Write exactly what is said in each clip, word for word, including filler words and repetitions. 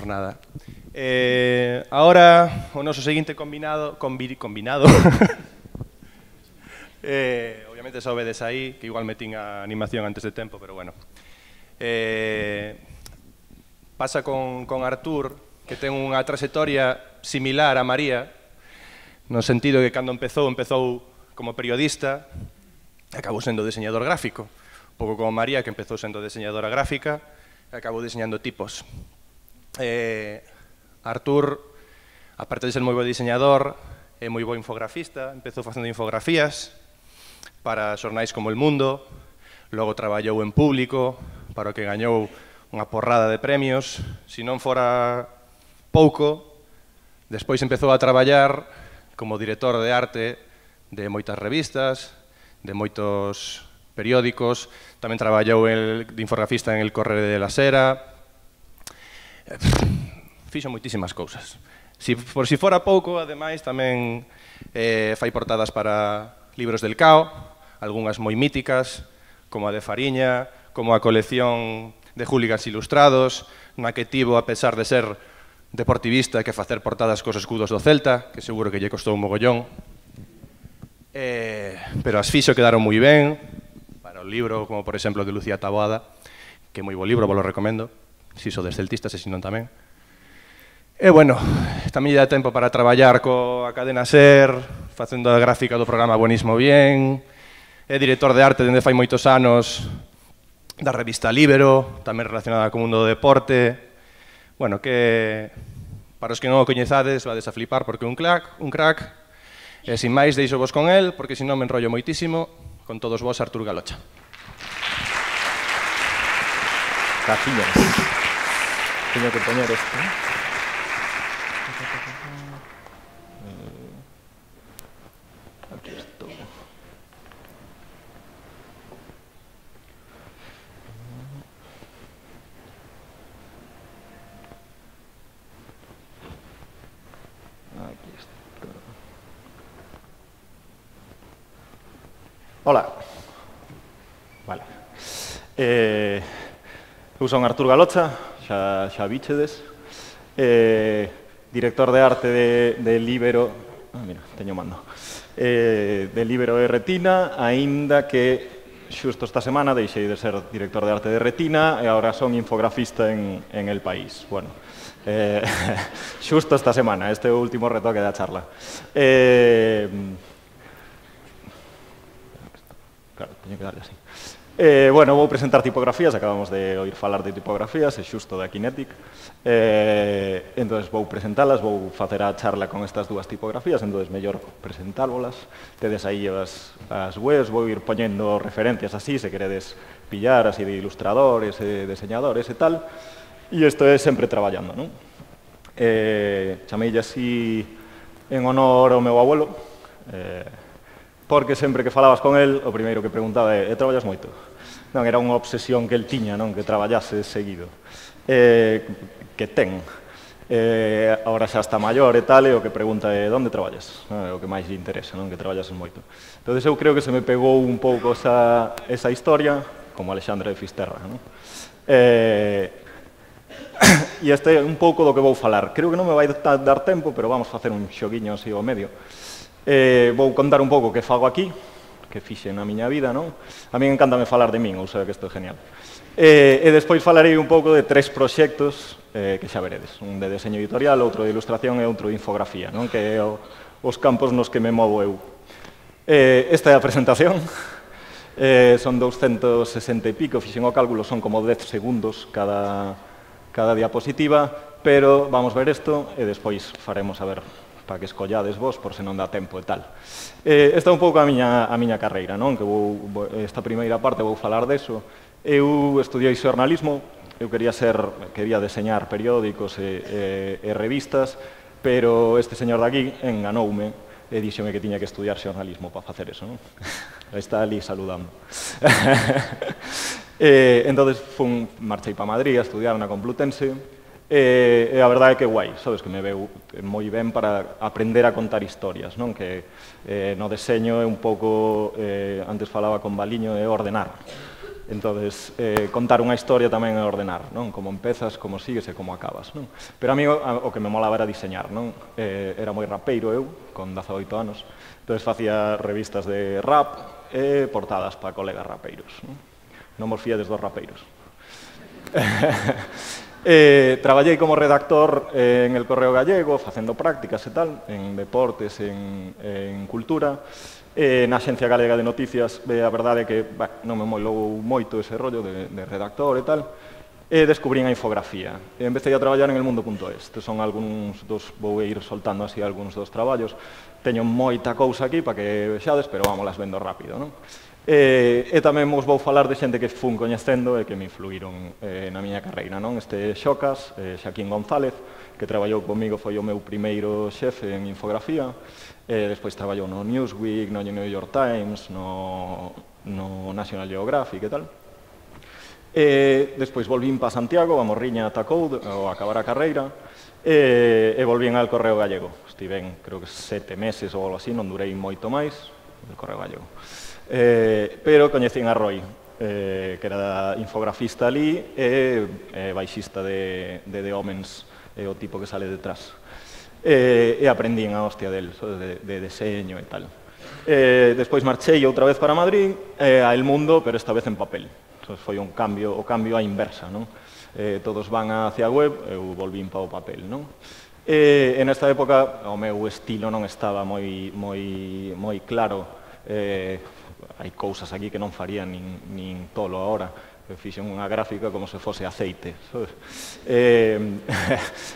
nada. Eh, ahora, o noso seguinte combinado... Combi, combinado... eh, obviamente sobedes aí, que igual metín a animación antes de tempo, pero bueno. Eh, pasa con, con Artur, que ten unha trayectoria similar a María, no sentido que cando empezou, empezou como periodista, acabou sendo diseñador gráfico. Un pouco como María, que empezou sendo diseñadora gráfica, acabou diseñando tipos. Eh, Artur, aparte de ser moi bo diseñador, é moi bo infografista, empezou facendo infografías para xornais como El Mundo, logo traballou en Público, para o que gañou unha porrada de premios. Se non fora pouco, despois empezou a traballar como director de arte de moitas revistas, de moitos periódicos, tamén traballou el, de infografista en El Correo de la Sera, fixo moitísimas cousas. Si, por si fora pouco, ademais, tamén eh, fai portadas para libros del Cao, algunhas moi míticas, como a de Fariña, como a colección de Hooligans Ilustrados, na que tivo, a pesar de ser deportivista, que facer portadas cos escudos do Celta, que seguro que lle costou un mogollón. Eh, pero as fixo quedaron moi ben, para o libro, como por exemplo de Lucía Taboada, que é moi bo libro, vos lo recomendo, si sodes celtistas e si non tamén. E, bueno, tamén lle dá tempo para traballar coa cadena SER, facendo a gráfica do programa Buenismo Bien, é director de arte dende fai moitos anos da revista Libero, tamén relacionada co mundo do deporte. Bueno, que para os que non o coñezades, vades a flipar porque é un crack, un crack. E, sin máis, deixo vos con el, porque senón me enrollo moitísimo. Con todos vos, Artur Galocha. Cajillas. Teño que poñer esto, ¿eh? Aquí esto. Aquí está. Hola. Vale. Eh, eu son Artur Galocha, xa, xa bichedes. Eh, director de arte de, de Libero... Ah, mira, teño mando. Eh, de Libero e Retina, aínda que xusto esta semana deixei de ser director de arte de Retina e agora son infografista en, en El País. Bueno, eh, xusto esta semana, este é o último retoque da charla. Eh, claro, teño que darle así. Eh, bueno, vou presentar tipografías, acabamos de oír falar de tipografías, é xusto da Kinetic. Eh, entón, vou presentalas, vou facer a charla con estas dúas tipografías, entón, mellor presentárvolas. Tedes aí as, as webs, vou ir poñendo referencias así, se queredes pillar, así de ilustradores, de diseñadores e tal. E isto é sempre traballando, non? Eh, chameille así en honor ao meu abuelo, eh, porque sempre que falabas con el, o primeiro que preguntaba é, e traballas moito? Non, era unha obsesión que el tiña, non, que traballase seguido. Eh, que ten. Eh, agora xa está maior e tal, e o que pregunta é, onde traballas? Non, é o que máis lle interesa, non, que traballases moito. Entón, eu creo que se me pegou un pouco esa, esa historia, como Alexandre de Fisterra, non? Eh, e este é un pouco do que vou falar. Creo que non me vai dar tempo, pero vamos facer un xoguiño así ao medio. Eh, vou contar un pouco que fago aquí, que fixe na miña vida, non? A mí encántame falar de min, ou sea que isto é genial. Eh, e despois falarei un pouco de tres proxectos eh, que xa veredes. Un de deseño editorial, outro de ilustración e outro de infografía, non? Que é o, os campos nos que me movo eu. Eh, esta é a presentación. Eh, son douscentos sesenta e pico, fixen o cálculo, son como dez segundos cada, cada diapositiva, pero vamos ver isto e despois faremos a ver para que escollades vos, por se non dá tempo e tal. Eh, esta é un pouco a miña, a miña carreira, non? Que vou, esta primeira parte vou falar deso. Eu estudiei xornalismo, eu quería ser, quería deseñar periódicos e, e, e revistas, pero este señor de aquí enganoume e díxome que tiña que estudiar xornalismo para facer eso, non? Está ali saludando. eh, entón, fun, marchei para Madrid a estudiar na Complutense. E, e a verdade é que guai, sabes, que me veu moi ben para aprender a contar historias, non? Que eh, no deseño é un pouco, eh, antes falaba con Baliño, é ordenar. Entonces, eh, contar unha historia tamén é ordenar, non? Como empezas, como sigues e como acabas, non? Pero a mí o, o que me molaba era diseñar, non? Eh, era moi rapeiro eu, con dezaoito anos, entonces facía revistas de rap e portadas para colegas rapeiros, non? Non vos fiades dos rapeiros. eh, traballei como redactor eh, en el Correo Gallego, facendo prácticas e tal, en deportes, en, en cultura. Eh, na Axencia Galega de Noticias, eh, a verdade é que bah, non me molou moito ese rollo de, de redactor e tal, e descubrín a infografía. E empecé a traballar en el mundo punto es. Estes son algúns dos, vou ir soltando así algúns dos traballos. Teño moita cousa aquí para que vexades, pero vamos las vendo rápido, non? E, e tamén vos vou falar de xente que fun coñecendo e que me influíron eh, na miña carreira, non? Este Xocas, eh, Xaquín González, que traballou comigo, foi o meu primeiro xefe en infografía. Eh, despois traballou no Newsweek, no New York Times, no, no National Geographic e tal. E despois volvín para Santiago, a Morriña atacou ao acabar a carreira, e, e volvín al Correo Gallego. Estiven, creo que sete meses ou algo así, non durei moito máis, no Correo Gallego. Eh, pero coñecín a Roy, eh, que era infografista ali e eh, baixista de, de The Omens, é o tipo que sale detrás. E, e aprendín a hostia del, de, de deseño e tal. E, despois marchei outra vez para Madrid, e a El Mundo, pero esta vez en papel. Entón, foi un cambio, o cambio á inversa, non? Eh, todos van hacia a web, eu volvín para o papel, non? E, en esta época, o meu estilo non estaba moi, moi, moi claro. Eh, hai cousas aquí que non faría nin, nin tolo agora. Fixen unha gráfica como se fose aceite. Eh,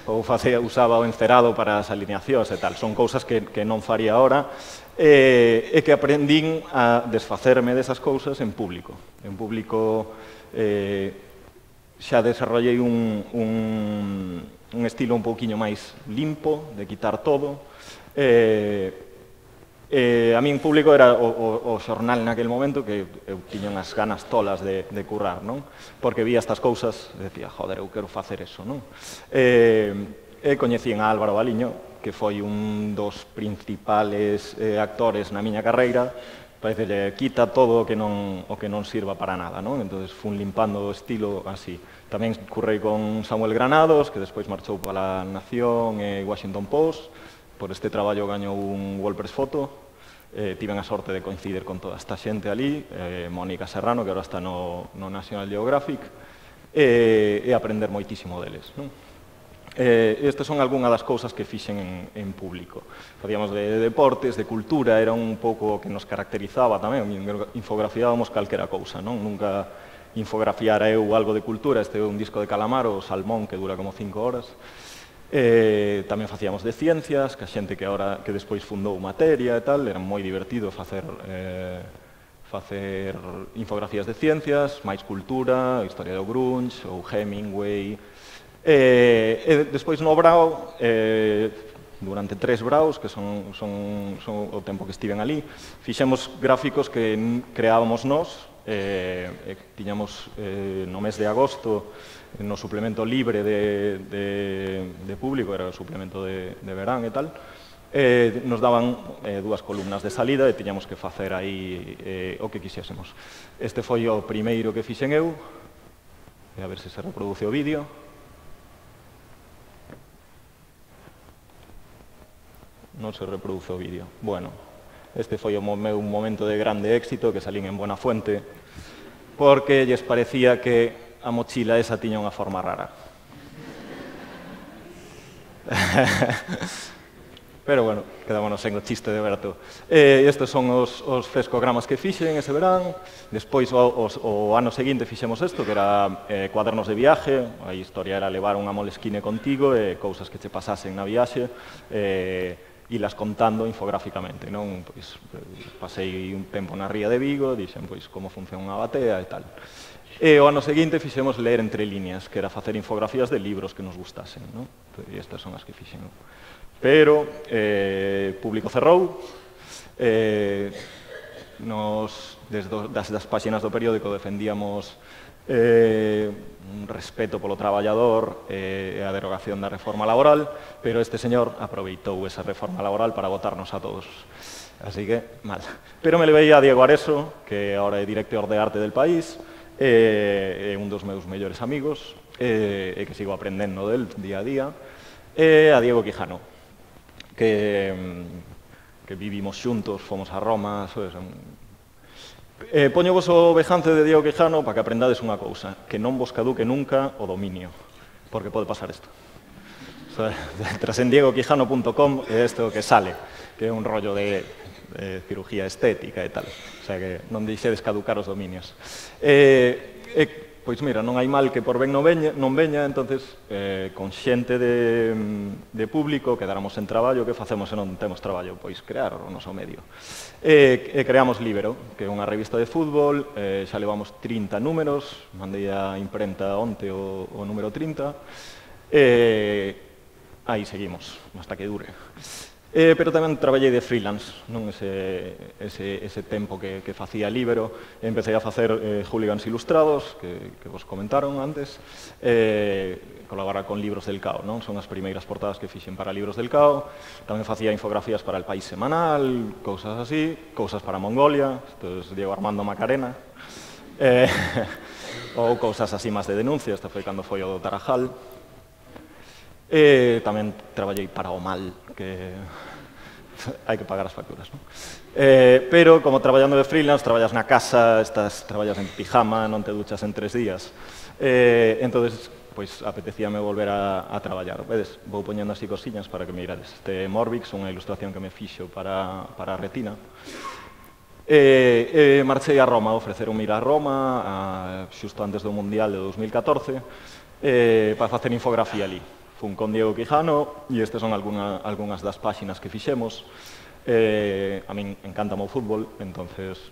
ou facía, usaba o encerado para as alineacións e tal. Son cousas que, que non faría ahora eh, e que aprendín a desfacerme desas cousas en público. En público eh, xa desarrollei un, un, un estilo un pouquiño máis limpo, de quitar todo. Eh, Eh, a mí en público era o, o, o xornal naquele momento que eu tiña unhas ganas tolas de, de currar, non? Porque vía estas cousas e decía, joder, eu quero facer eso, non? Eh, e coñecín a Álvaro Baliño, que foi un dos principales eh, actores na miña carreira. Parece que quita todo o que non, o que non sirva para nada, non? Entón, fun limpando o estilo así. Tamén currei con Samuel Granados, que despois marchou para a Nación e Washington Post. Por este traballo gañou un WordPress Photo. Eh, tiven a sorte de coincidir con toda esta xente ali, eh, Mónica Serrano, que agora está no, no National Geographic, e, e aprender moitísimo deles, non? Eh, estas son algunhas das cousas que fixen en, en público. Facíamos de, de deportes, de cultura, era un pouco o que nos caracterizaba tamén, infografiábamos calquera cousa, non? Nunca infografiara eu algo de cultura. Este é un disco de Calamaro, o Salmón, que dura como cinco horas. Eh, tamén facíamos de ciencias, que a xente que ahora que despois fundou Materia e tal, era moi divertido facer eh, facer infografías de ciencias, máis cultura, historia do grunge, ou Hemingway. Eh, e despois no Brao, eh, durante tres Braos, que son, son, son o tempo que estiven ali, fixemos gráficos que creábamos nós. Eh, eh, tiñamos eh, no mes de agosto no suplemento libre de, de, de público, era o suplemento de, de verán e tal, eh, nos daban eh, dúas columnas de salida e tiñamos que facer aí eh, o que quixésemos. Este foi o primeiro que fixen eu, e a ver se se reproduce o vídeo. Non se reproduce o vídeo. Bueno, este foi o meu momento de grande éxito, que salín en Buenafuente, porque lles parecía que a mochila esa tiña unha forma rara. Pero, bueno, quedámonos en o chiste de Berto. Eh, estes son os, os frescogramas que fixen ese verán. Despois, o, os, o ano seguinte, fixemos isto, que era eh, cuadernos de viaje. A historia era levar unha Moleskine contigo e cousas que che pasasen na viaxe. Eh, e las contando infográficamente, non? Pois, pasei un tempo na ría de Vigo, dixen pois como funciona unha batea e tal. E o ano seguinte fixemos ler entre líneas, que era facer infografías de libros que nos gustasen, non? E estas son as que fixen. Pero eh, público cerrou, eh, nos, desde das, das páxinas do periódico defendíamos eh, un respeto polo traballador e eh, a derogación da reforma laboral, pero este señor aproveitou esa reforma laboral para votarnos a todos. Así que, mal. Pero me levei a Diego Areso, que ahora é director de arte del País, é un dos meus mellores amigos, e que sigo aprendendo del día a día, e a Diego Quijano, que que vivimos xuntos, fomos a Roma, poño vos o vejance de Diego Quijano para que aprendades unha cousa, que non vos caduque nunca o dominio, porque pode pasar isto. Entras en diego quijano punto com e isto que sale, que é un rollo de cirugía estética e tal, o sea que non deixedes caducar os dominios. Pois mira, non hai mal que por ben non veña, entonces, con xente de público, quedáramos en traballo, que facemos se non temos traballo? Pois crear o noso medio. E creamos Libero, que é unha revista de fútbol, xa levamos trinta números, mandei a imprenta onte o número trinta, e aí seguimos, hasta que dure. Pero tamén traballei de freelance, ese tempo que facía Libero. Empecé a facer Hooligans Ilustrados, que vos comentaron antes, colaborar con Libros del Cao, son as primeiras portadas que fixen para Libros del Cao. Tamén facía infografías para El País Semanal, cousas así, cousas para Mongolia, Diego Armando Macarena, ou cousas así máis de denuncia, esta foi cando foi o do Tarajal. Tamén traballei para o Mal, que hai que pagar as facturas, non? Pero, como traballando de freelance, traballas na casa, traballas en pijama, non te duchas en tres días. Entón, pois, apetecíame volver a traballar. Vedes, vou poñendo así cosiñas para que me irades. Este Morbix, unha ilustración que me fixo para a retina. Marchei a Roma, ofreceronme ir a Roma, xusto antes do Mundial de dos mil catorce, para facer infografía ali. Fun con Diego Quijano e estas son algunhas das páxinas que fixemos. A min encanta o fútbol, entonces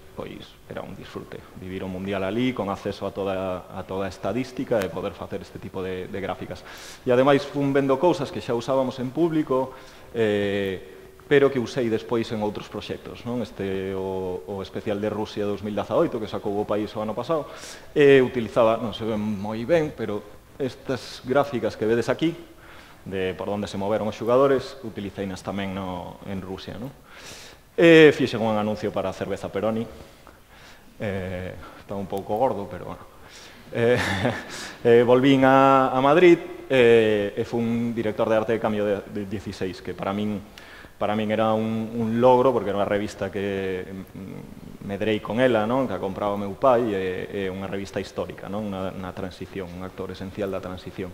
era un disfrute vivir o Mundial ali con acceso a toda a estadística e poder facer este tipo de gráficas. E ademais fun vendo cousas que xa usábamos en público, pero que usei despois en outros proxectos. Este, o especial de Rusia dos mil dezaoito, que sacou o país o ano pasado, utilizaba, non se ven moi ben, pero estas gráficas que vedes aquí, de por onde se moveron os xugadores, utiliceinas tamén en Rusia. Fixen un anuncio para a cerveza Peroni, está un pouco gordo, pero bueno. Volvín a Madrid e fun director de arte de Cambio de dieciséis, que para min para min era un logro, porque era unha revista que medrei con ela, que a compraba o meu pai, e unha revista histórica, na transición, un actor esencial da transición.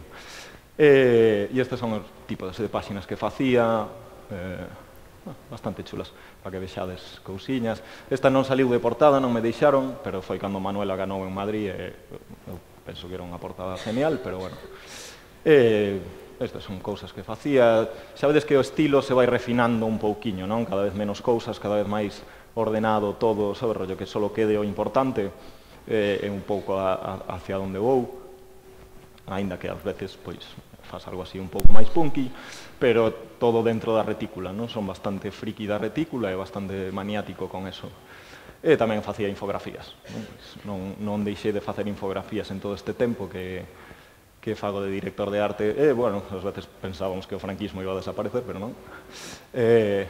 E estes son os tipos de páxinas que facía, bastante chulas, para que vexades cousiñas. Esta non saliu de portada, non me deixaron, pero foi cando Manuela ganou en Madrid, e eu penso que era unha portada genial, pero bueno. Estas son cousas que facía. Sabedes que o estilo se vai refinando un pouquiño, non? Cada vez menos cousas, cada vez máis ordenado todo, sabe, rollo que só quede o importante, e un pouco hacia onde vou, aínda que ás veces, pois, faz algo así un pouco máis punky, pero todo dentro da retícula, non? Son bastante friki da retícula e bastante maniático con eso. E tamén facía infografías. Non deixei de facer infografías en todo este tempo que fago de director de arte. E, bueno, ás veces pensábamos que o franquismo iba a desaparecer, pero non. E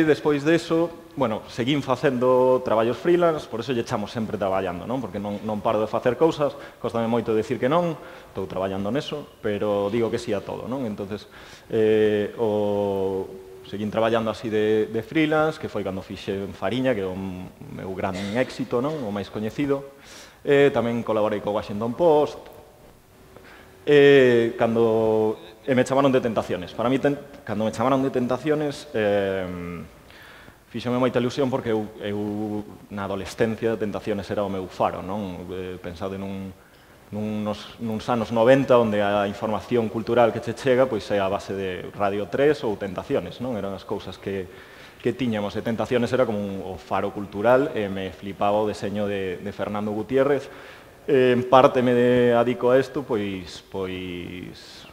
despois deso, bueno, seguín facendo traballos freelance, por eso lle echamos sempre traballando, non? Porque non paro de facer cousas, costame moito decir que non, estou traballando neso, pero digo que sí a todo, non? Entonces, seguín traballando así de freelance, que foi cando fixe Fariña, que é o meu gran éxito, non? O máis coñecido. Tamén colaborei co Washington Post, e cando... E me chamaron de Tentaciones. Para mí, cando me chamaron de Tentaciones, fíxome moita ilusión porque eu, na adolescencia, Tentaciones era o meu faro, non? Pensado nuns anos noventa, onde a información cultural que che chega é a base de Radio tres ou Tentaciones, non? Eran as cousas que tiñamos, e Tentaciones era como o faro cultural, e me flipaba o deseño de Fernando Gutiérrez. En parte me adico a isto, pois...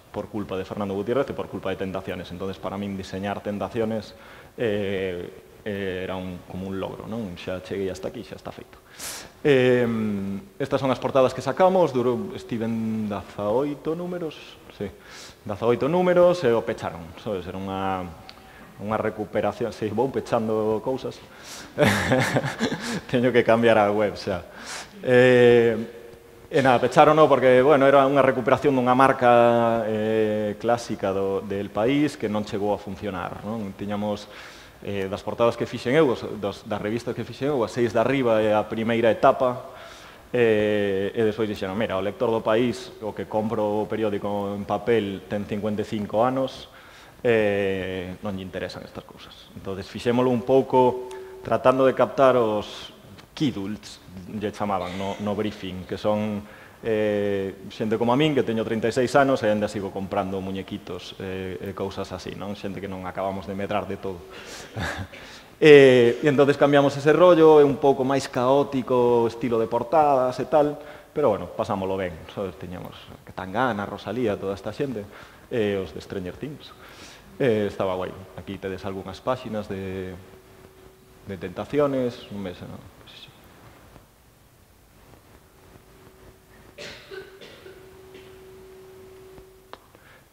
por culpa de Fernando Gutiérrez e por culpa de Tentaciones. Entonces, para min, diseñar Tentaciones era como un logro, non? Xa cheguei hasta aquí, xa está feito. Estas son as portadas que sacamos, estiven dezaoito números, sí, dezaoito números, e o pecharon, sabes? Era unha unha recuperación, se vou pechando cousas, teño que cambiar a web xa. E nada, pecharon no porque, bueno, era unha recuperación dunha marca eh, clásica do, del país que non chegou a funcionar, non? Tiñamos eh, das portadas que fixen eu, dos, das revistas que fixen eu, as seis de arriba é a primeira etapa, e, e despois dixeron, mira, o lector do país, o que compro o periódico en papel, ten cincuenta e cinco anos, eh, non lle interesan estas cousas. Entón, fixémolo un pouco tratando de captar os kidults, lle chamaban no, no briefing, que son eh, xente como a min, que teño trinta e seis anos e ainda sigo comprando muñequitos e eh, cousas así, non? Xente que non acabamos de medrar de todo. e, e entón cambiamos ese rollo, é un pouco máis caótico, estilo de portadas e tal, pero bueno, pasámoslo ben. Sabes? Teñamos Tangana, Rosalía, toda esta xente, e os de Stranger Things. E estaba guai. Aquí tedes algunhas páxinas de, de tentaciones, un mes, non?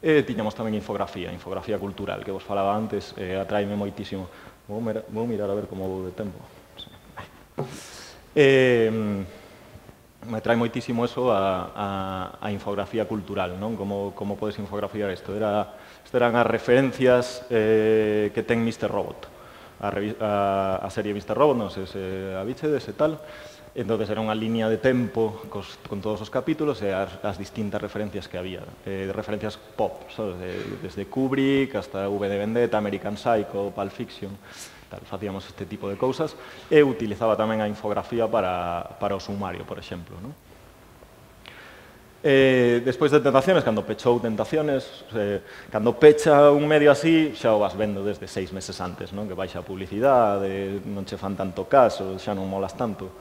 E tiñamos tamén infografía, infografía cultural, que vos falaba antes, eh, atraime moitísimo. Vou, mira, vou mirar a ver como vou de tempo. Sí. Eh, me atrae moitísimo eso a, a, a infografía cultural, non? Como, como podes infografiar isto? Era, isto eran as referencias eh, que ten mister Robot. A, a, a serie mister Robot, non sei se a bichedes e tal. Entón, era unha línea de tempo cos, con todos os capítulos e as, as distintas referencias que había. Eh, referencias pop, sabes? De, desde Kubrick hasta V de Vendetta, American Psycho, Pulp Fiction. Tal, facíamos este tipo de cousas. E utilizaba tamén a infografía para, para o sumario, por exemplo. ¿No? Eh, despois de Tentaciones, cando pechou Tentaciones, eh, cando pecha un medio así, xa o vas vendo desde seis meses antes, non? Que baixa a publicidade, non che fan tanto caso, xa non molas tanto.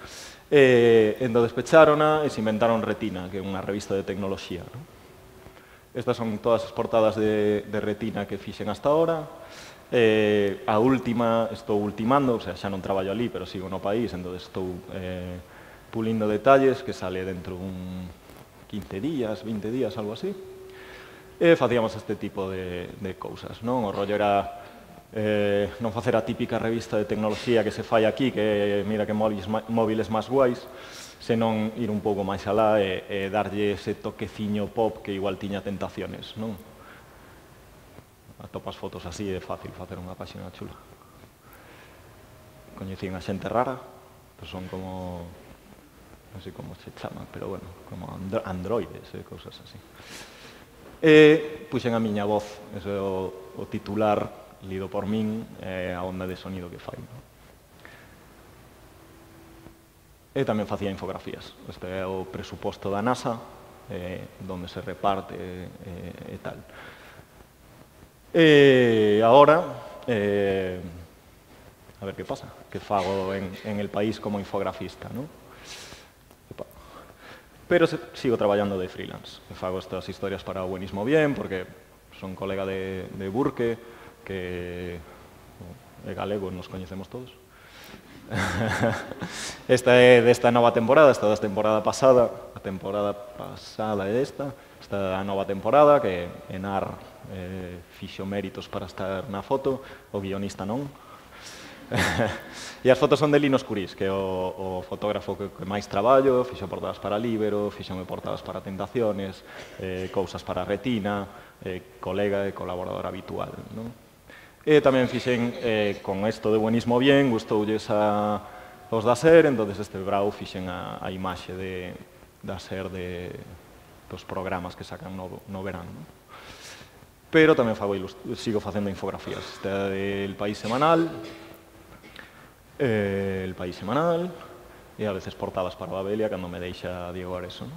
E, entón, despecharona e se inventaron Retina, que é unha revista de tecnoloxía. ¿No? Estas son todas as portadas de, de Retina que fixen hasta ahora. Eh, a última, estou ultimando, o sea, xa non traballo ali, pero sigo no país, entón estou eh, pulindo detalles, que sale dentro un quince días, vinte días, algo así. E facíamos este tipo de, de cousas, non? O rollo era Eh, non facer a típica revista de tecnoloxía que se fai aquí, que mira que móviles, móviles máis guais, senón ir un pouco máis alá e, e darlle ese toqueciño pop que igual tiña Tentaciones, non? Atopas fotos así, é fácil facer unha páxina chula. Coñecín a xente rara, que son como, non sei como se chaman, pero bueno, como andro androides e cousas así. E puxen a miña voz, ese é o, o titular lido por min, eh, a onda de sonido que fai. ¿No? E tamén facía infografías. Este é o presuposto da NASA, eh, donde se reparte eh, e tal. E agora, eh, a ver que pasa, que fago en, en el país como infografista, ¿no? Pero se, sigo traballando de freelance. Fago estas historias para o Buenismo Bien, porque son colega de, de Burke, que é galego, nos coñecemos todos. Esta é desta nova temporada, esta da temporada pasada, a temporada pasada é esta, esta a nova temporada, que Enar eh, fixo méritos para estar na foto, o guionista non. E as fotos son de Lino Escurís, que é o, o fotógrafo que, que máis traballo, fixo portadas para Libero, fixome portadas para Tentaciones, eh, cousas para Retina, eh, colega e colaborador habitual, non? E tamén fixen, eh, con isto de Buenismo Bien, gustoulles a, os da SER, entón este brau fixen a, a imaxe de, da SER de, dos programas que sacan no, no verán. ¿No? Pero tamén fago, sigo facendo infografías. Este é El País Semanal, eh, El País Semanal, e a veces portadas para Babelia, cando me deixa Diego Areso. ¿No?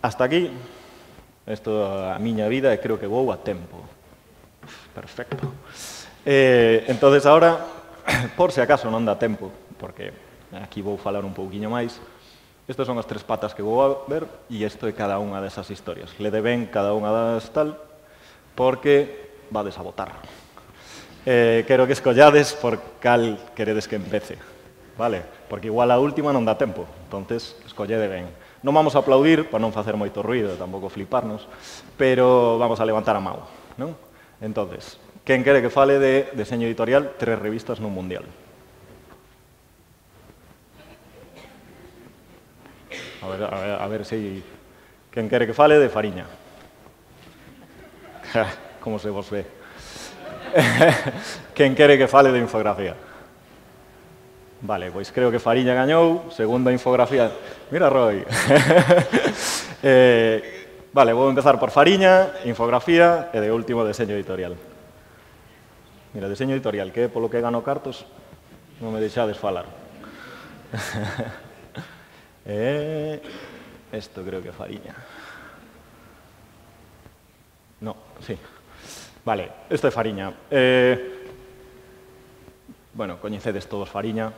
Hasta aquí, isto a miña vida, e creo que vou a tempo. Perfecto. Eh, entonces, ahora, por si acaso non dá tempo, porque aquí vou falar un pouquiño máis, estas son as tres patas que vou a ver, e isto é cada unha desas historias. Lede ben cada unha das tal, porque vades a votar. Eh, quero que escollades por cal queredes que empece, vale? Porque igual a última non dá tempo, entonces escollede ben. Non vamos a aplaudir, para non facer moito ruido, tampouco fliparnos, pero vamos a levantar a mão, non? Entonces, Quen quere que fale de deseño editorial, tres revistas nun mundial? A ver, a ver, a ver se... Quen quere que fale de Fariña? Como se vos ve. Quen quere que fale de infografía? Vale, pois creo que Fariña gañou, segunda infografía... Mira, Roy. eh, vale, vou empezar por Fariña, infografía e de último deseño editorial. Mira, deseño editorial, que polo que gano cartos non me deixades falar. eh, esto creo que Fariña. No, sí. Vale, isto é Fariña. Eh, bueno, coñecedes todos Fariña.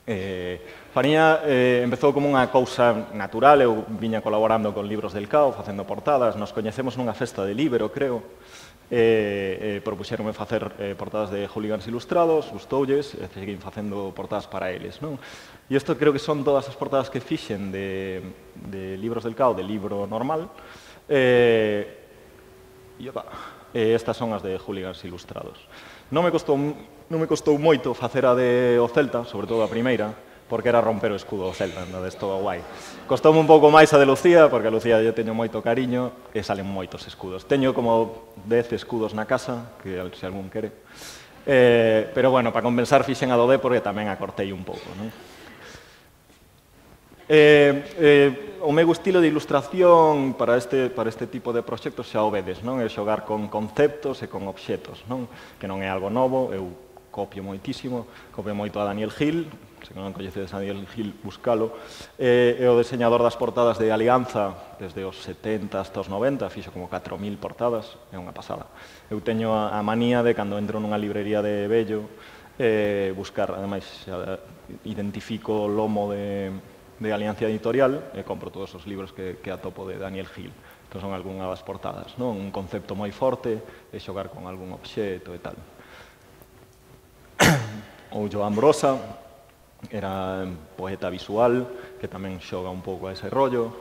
Eh, Fariña eh, empezou como unha cousa natural, eu viña colaborando con Libros del Cao, facendo portadas, nos coñecemos nunha festa de libro, creo, e eh, eh, propuxeronme facer eh, portadas de hooligans ilustrados, gustoulles, e seguín facendo portadas para eles, non? E isto creo que son todas as portadas que fixen de, de Libros del Cao, de libro normal, e, e, opa, e estas son as de hooligans ilustrados. Non me costou, non me costou moito facer a de o Celta, sobre todo a primeira, porque era romper o escudo do Celta, entonces todo guai. Costoume un pouco máis a de Lucía, porque a Lucía eu teño moito cariño e salen moitos escudos. Teño como dez escudos na casa, que se algún quere. Eh, pero bueno, para compensar fixen a do D porque tamén a cortei un pouco, non? Eh, eh, o meu estilo de ilustración para este, para este tipo de proxectos xa o vedes, non? É xogar con conceptos e con obxetos, non? Que non é algo novo, eu copio moitísimo, copio moito a Daniel Gil, se non coñecedes a Daniel Gil, buscalo, eh, é o diseñador das portadas de Alianza desde os setenta hasta os noventa, fixo como catro mil portadas, é unha pasada. Eu teño a, a manía de, cando entro nunha librería de Bello, eh, buscar, ademais, xa, identifico o lomo de, de Alianza Editorial e compro todos os libros que, que atopo de Daniel Gil. Entón son algunhas das portadas, non? Un concepto moi forte de xogar con algún obxeto e tal. Ou Joan Brosa, era poeta visual, que tamén xoga un pouco a ese rollo.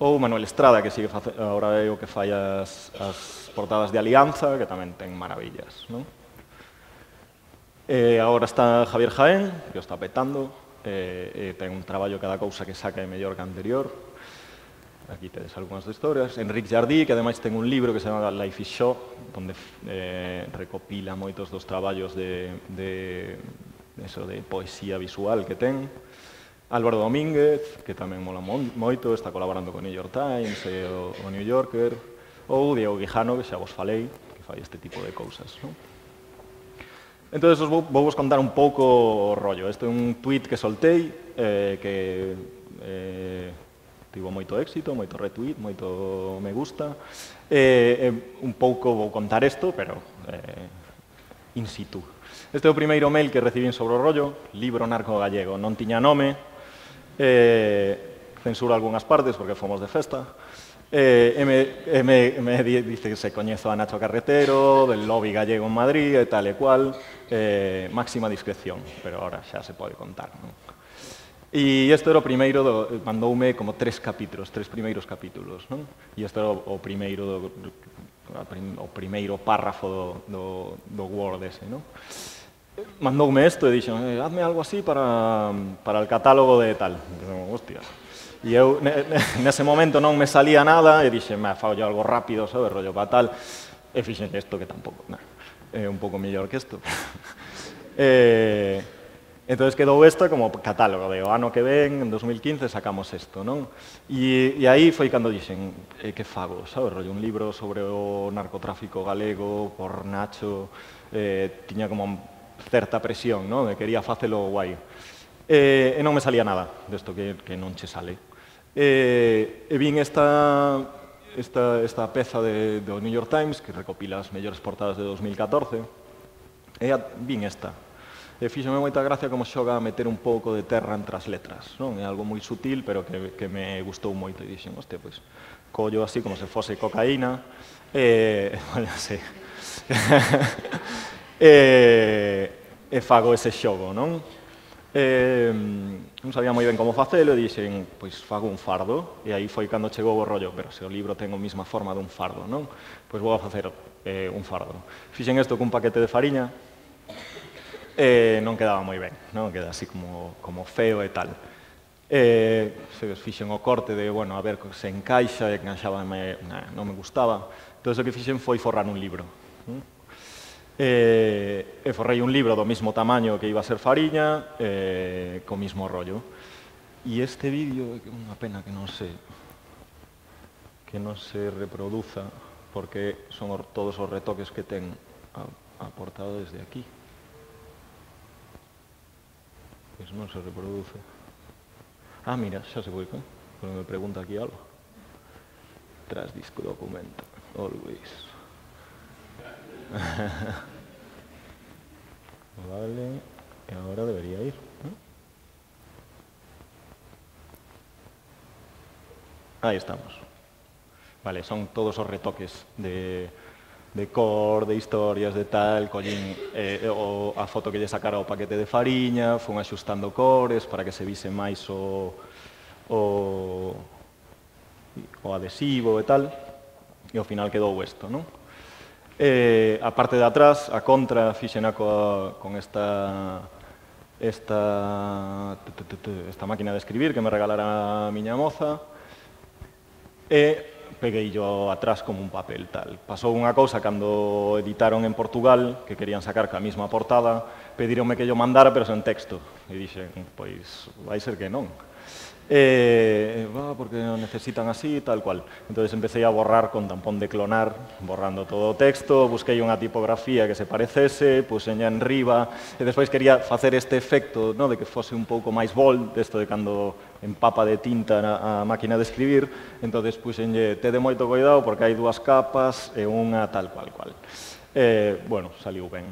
Ou Manuel Estrada, que sigue agora é o que fai as, as portadas de Alianza, que tamén ten maravillas, non? E agora está Javier Jaén, que o está petando, e, e ten un traballo cada cousa que saca é mellor que anterior. Aquí tedes algunhas de historias. Enric Jardí, que ademais ten un libro que se chama Life is Show, onde eh, recopila moitos dos traballos de, de, eso, de poesía visual que ten. Álvaro Domínguez, que tamén mola moito, está colaborando con New York Times e o, o New Yorker. Ou Diego Guijano, que xa vos falei, que fai este tipo de cousas, non? Entón, vou, vou vos contar un pouco o rollo. Este é un tweet que soltei, eh, que... Eh, tivo moito éxito, moito retweet, moito me gusta. Eh, eh, un pouco vou contar isto, pero eh, in situ. Este é o primeiro mail que recibín sobre o rollo, libro narco gallego. Non tiña nome, eh, censuro algunhas partes porque fomos de festa, eh, e me, e me, me dice que se coñezo a Nacho Carretero, del lobby gallego en Madrid, e tal e cual, eh, máxima discreción, pero ahora xa se pode contar, non? E isto era o primeiro, do, mandoume como tres capítulos, tres primeiros capítulos, non? E isto era o, o primeiro do, o primeiro párrafo do, do, do Word ese, non? Mandoume isto e dixen, eh, hazme algo así para, para el catálogo de tal. E eu, hostia. E eu, nese momento non me salía nada e dixen, me fao yo algo rápido, sabe, rollo para tal. E fixen isto que tampouco, nah, é un pouco mellor que isto. eh... Entón, quedou esta como catálogo de o ano que ven, en dos mil quince, sacamos isto, non? E, e aí foi cando dixen, eh, que fago, sabes, rollo, un libro sobre o narcotráfico galego por Nacho, eh, tiña como certa presión, non? E quería facelo guai. E, e non me salía nada desto que, que non che sale. E, e vin esta, esta, esta peza de, do New York Times, que recopila as mellores portadas de dos mil catorce, e a, vin esta. E fíxome moita gracia como xoga a meter un pouco de terra entre as letras, non? É algo moi sutil, pero que, que me gustou moito. E dixen, hostia, pois, collo así como se fose cocaína, e, bueno, sí. e, e fago ese xogo, non? Eh, non sabía moi ben como facelo e dixen, pois fago un fardo, e aí foi cando chegou o rollo, pero se o libro ten a mesma forma dun fardo, non? Pois vou a facer eh, un fardo. Fixen isto cun paquete de fariña, e non quedaba moi ben, non? Queda así como, como feo e tal. E se fixen o corte de, bueno, a ver se encaixa, e encaixaba, me, nah, non me gustaba. Entón, o que fixen foi forrar un libro. E, e forrei un libro do mismo tamaño que iba a ser fariña, e, co mismo rollo. E este vídeo, é unha pena que non se que non se reproduza, porque son todos os retoques que ten aportado desde aquí. Pois non se reproduce. Ah, mira, xa se publicou, porque me pregunta aquí algo. Tras disco documento, always. Vale, e agora debería ir, ¿no? Aí estamos. Vale, son todos os retoques de, de cor, de historias, de tal, collín eh, o, a foto que lle sacara o paquete de fariña, fun axustando cores para que se vise máis o, o, o adhesivo e tal, e ao final quedou isto, non? Eh, a parte de atrás, a contra, fixena coa, con esta, esta, esta máquina de escribir que me regalara a miña moza, e peguei yo atrás como un papel tal. Pasou unha cousa cando editaron en Portugal, que querían sacar ca mesma portada, pedironme que yo mandara, pero sen texto. E dixen, pois, vai ser que non. Eh, va, porque o necesitan así, tal cual. Entonces empecé a borrar con tampón de clonar, borrando todo o texto, busquei unha tipografía que se parecese, puxenha en riba, e despois quería facer este efecto, no, de que fose un pouco máis bold, desto de cando empapa de tinta a, a máquina de escribir, entonces puxenlle, te de moito cuidado porque hai dúas capas e unha tal cual cual. Eh, bueno, saliu ben.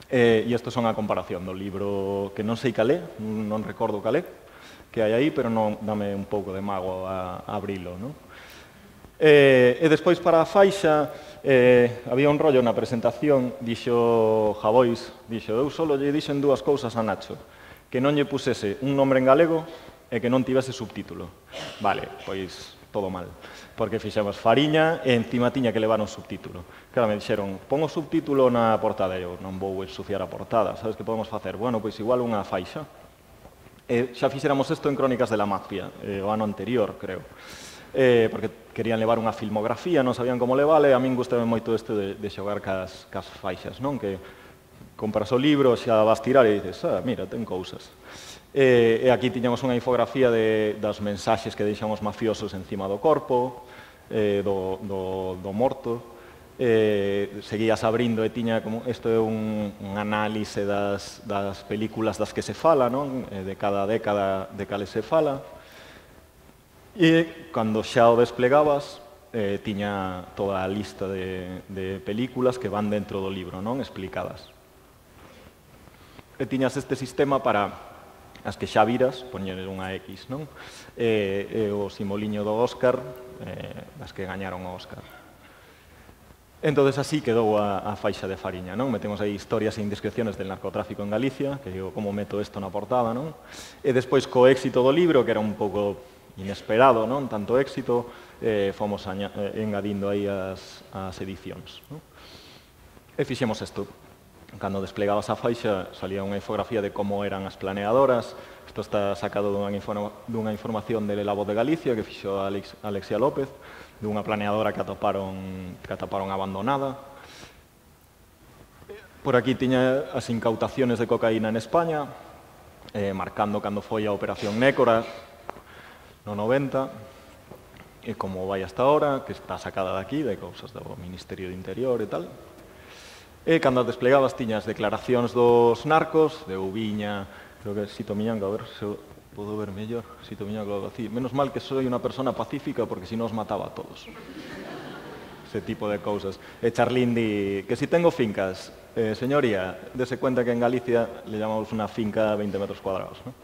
Eh, e isto son a comparación do libro que non sei calé, non recordo calé, que hai aí, pero non dame un pouco de mago a, a abrilo, non? Eh, e despois para a faixa, eh, había un rollo na presentación, dixo Javois, dixo, eu solo lle dixen dúas cousas a Nacho, que non lle pusese un nombre en galego e que non tivese subtítulo. Vale, pois todo mal, porque fixemos fariña e encima tiña que levar un subtítulo. Claro, me dixeron, pon o subtítulo na portada, e eu non vou ensuciar a portada, sabes que podemos facer? Bueno, pois igual unha faixa. Eh, xa fixéramos isto en Crónicas de la Mafia, eh, o ano anterior, creo. Eh, porque querían levar unha filmografía, non sabían como levale, a min gustame moito isto de, de xogar cas, cas faixas, non? Que compras o libro, xa vas tirar e dices, ah, mira, ten cousas. Eh, e aquí tiñamos unha infografía de, das mensaxes que deixan os mafiosos encima do corpo, eh, do, do, do morto. Eh, seguías abrindo e tiña como isto é un, un análise das, das películas das que se fala, non? Eh, de cada década de cales se fala, e cando xa o desplegabas eh, tiña toda a lista de, de películas que van dentro do libro, non? Explicadas. E tiñas este sistema para as que xa viras, poñer unha X, non? E, e o simboliño do Óscar, eh, das que gañaron o Óscar. Entonces así quedou a, a faixa de fariña, non? Metemos aí historias e indiscreciones del narcotráfico en Galicia, que digo, como meto isto na portada, non? E despois, co éxito do libro, que era un pouco inesperado, non? Tanto éxito, eh, fomos aña, eh, engadindo aí as, as edicións, non? E fixemos isto. Cando desplegabas a faixa, salía unha infografía de como eran as planeadoras. Isto está sacado dunha, informa, dunha información de La Voz de Galicia, que fixo Alex, Alexia López, dunha planeadora que atoparon, que atoparon abandonada. Por aquí tiña as incautaciones de cocaína en España, eh, marcando cando foi a Operación Nécora, no noventa, e como vai hasta ahora, que está sacada de aquí, de cousas do Ministerio de Interior e tal. E cando desplegabas tiñas declaracións dos narcos, de Ubiña, creo que Sito Miñanco, a ver se podo ver mellor, Sito Miñanco, algo así. Menos mal que soy unha persona pacífica, porque si non os mataba a todos. Ese tipo de cousas. E Charlín di que si tengo fincas, eh, señoría, dese cuenta que en Galicia le llamamos unha finca a veinte metros cuadrados, ¿no?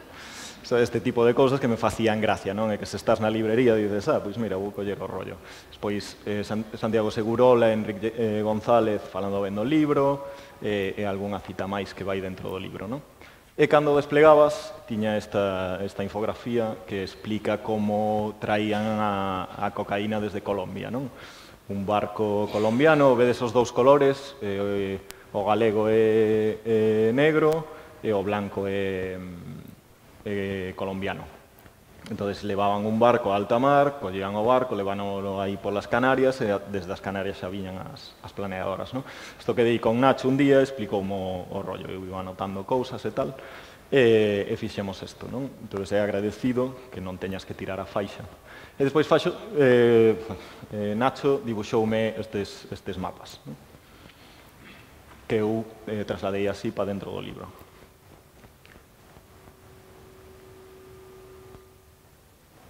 O sea, este tipo de cousas que me facían gracia, non? E que se estás na librería e dices, ah, pois mira, vou coller o rollo. Despois, eh, Santiago Segurola, Enrique eh, González falando ben do libro, eh, e algunha cita máis que vai dentro do libro, non? E cando o desplegabas, tiña esta, esta infografía que explica como traían a, a cocaína desde Colombia, non? Un barco colombiano, vedes os dous colores, eh, o galego é, é negro e o blanco é, é colombiano. Entón, levaban un barco a alta mar, collían o barco, leváno aí polas Canarias, e desde as Canarias xa viñan as, as planeadoras, non? Isto que dei con Nacho un día, explicou o, o rollo, eu iba anotando cousas e tal, e, e fixemos isto, non? Entón, é agradecido que non teñas que tirar a faixa. E despois faxo, eh, eh, Nacho dibuxoume estes, estes mapas, non? Que eu eh, trasladei así para dentro do libro.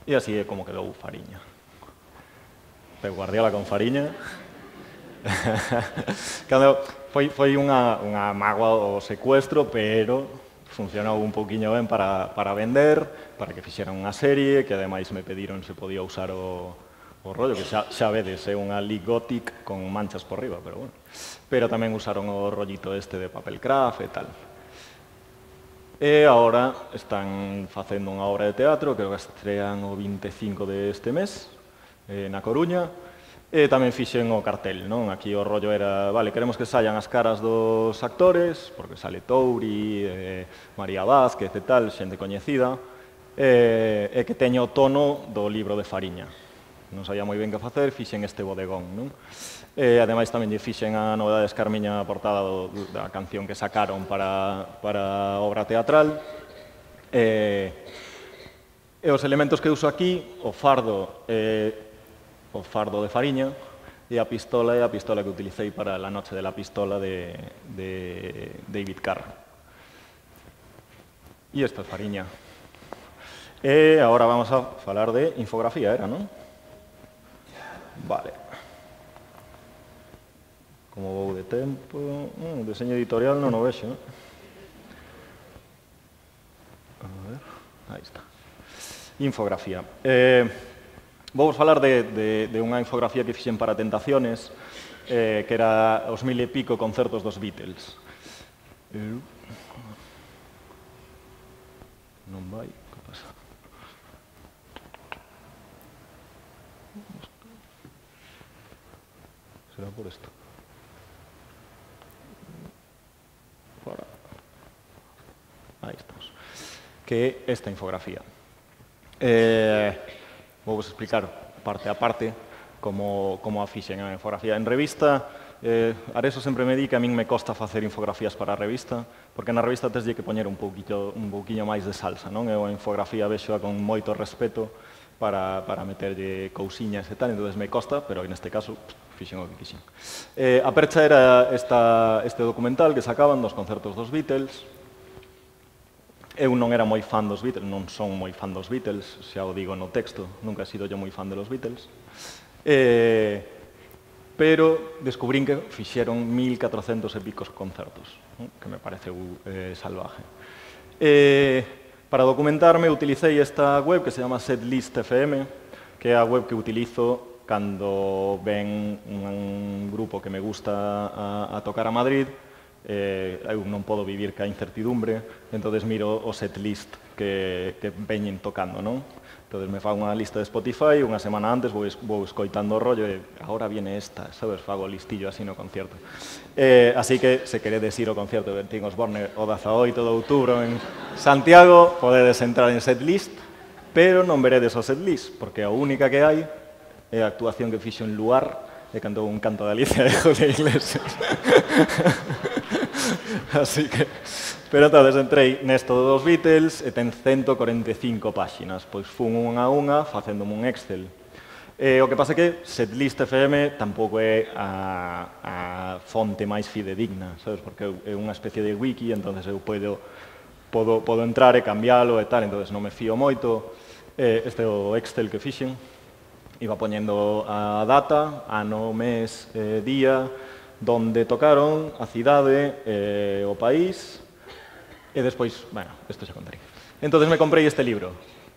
E así é como quedou Fariña. Pep Guardiola con Fariña. Cando foi, foi unha, unha mágoa o secuestro, pero funcionou un pouquiño ben para, para vender, para que fixeran unha serie, que ademais me pediron se podía usar o, o rollo, que xa, xa vedes, é unha League Gothic con manchas por riba, pero bueno. Pero tamén usaron o rollito este de papel craft e tal. E agora están facendo unha obra de teatro, creo que estrean o vinte e cinco deste mes, eh, na Coruña, e tamén fixen o cartel, non? Aquí o rollo era, vale, queremos que saian as caras dos actores, porque sale Touri, eh, María Vázquez e tal, xente coñecida, eh, e que teña o tono do libro de Fariña. Non sabía moi ben que facer, fixen este bodegón, non? E, ademais, tamén lle fixen a novedade de Escarmiña a portada do, da canción que sacaron para, para a obra teatral. E, e os elementos que uso aquí, o fardo, e, o fardo de Fariña, e a pistola é a pistola que utilicei para La noche de la pistola de, de David Carr. E isto é Fariña. E agora vamos a falar de infografía, era, non? Vale. Como vou de tempo... Mm, deseño editorial non o vexo, non? A ver... Aí está. Infografía. Eh, vou falar de, de, de unha infografía que fixen para Tentaciones, eh, que era os mil e pico concertos dos Beatles. Eu... Non vai... Que pasa? Será por isto. Aí estamos. Que é esta infografía. Eh, vou vos explicar parte a parte como, como a fixen a infografía. En revista, eh, Areso sempre me di que a min me costa facer infografías para a revista, porque na revista teslle que poñer un pouquillo, un pouquinho máis de salsa, non? Eu a infografía vexoa con moito respeto para, para meterlle cousiñas e tal, entón me costa, pero neste caso fixen o que quixen. Eh, a percha era esta, este documental que sacaban dos concertos dos Beatles. Eu non era moi fan dos Beatles, non son moi fan dos Beatles, xa o digo no texto, nunca he sido yo moi fan de los Beatles. Eh, pero descubrín que fixeron mil catrocentos e picos concertos, ¿no? Que me pareceu eh, salvaje. Eh, para documentarme utilicei esta web que se chama Setlist F M, que é a web que utilizo cando ven un grupo que me gusta a, a tocar a Madrid. Eh, eu non podo vivir ca incertidumbre, entonces miro o setlist que, que veñen tocando, non? Entonces me fago unha lista de Spotify, unha semana antes vou, vou escoitando o rollo e agora viene esta, sabes, fago o listillo así no concierto. Eh, así que, se queredes ir ao concierto de Bertín Osborne o dezaoito de outubro en Santiago, podedes entrar en setlist, pero non veredes o setlist, porque a única que hai é a actuación que fixo en Luar e cantou un canto de Alicia de Julio Iglesias. Así que... Pero entonces entrei nesto dos Beatles e ten ciento cuarenta e cinco páxinas. Pois fun unha a unha facéndome un Excel. E o que pasa é que Setlist F M tampouco é a, a fonte máis fidedigna, sabes? Porque é unha especie de wiki, entonces eu podo, podo, podo entrar e cambiálo e tal, entonces non me fío moito. Eh, este é o Excel que fixen. Iba poñendo a data, ano, mes, eh, día, donde tocaron, a cidade, eh, o país, e despois, bueno, isto xa contaré. Entón me comprei este libro,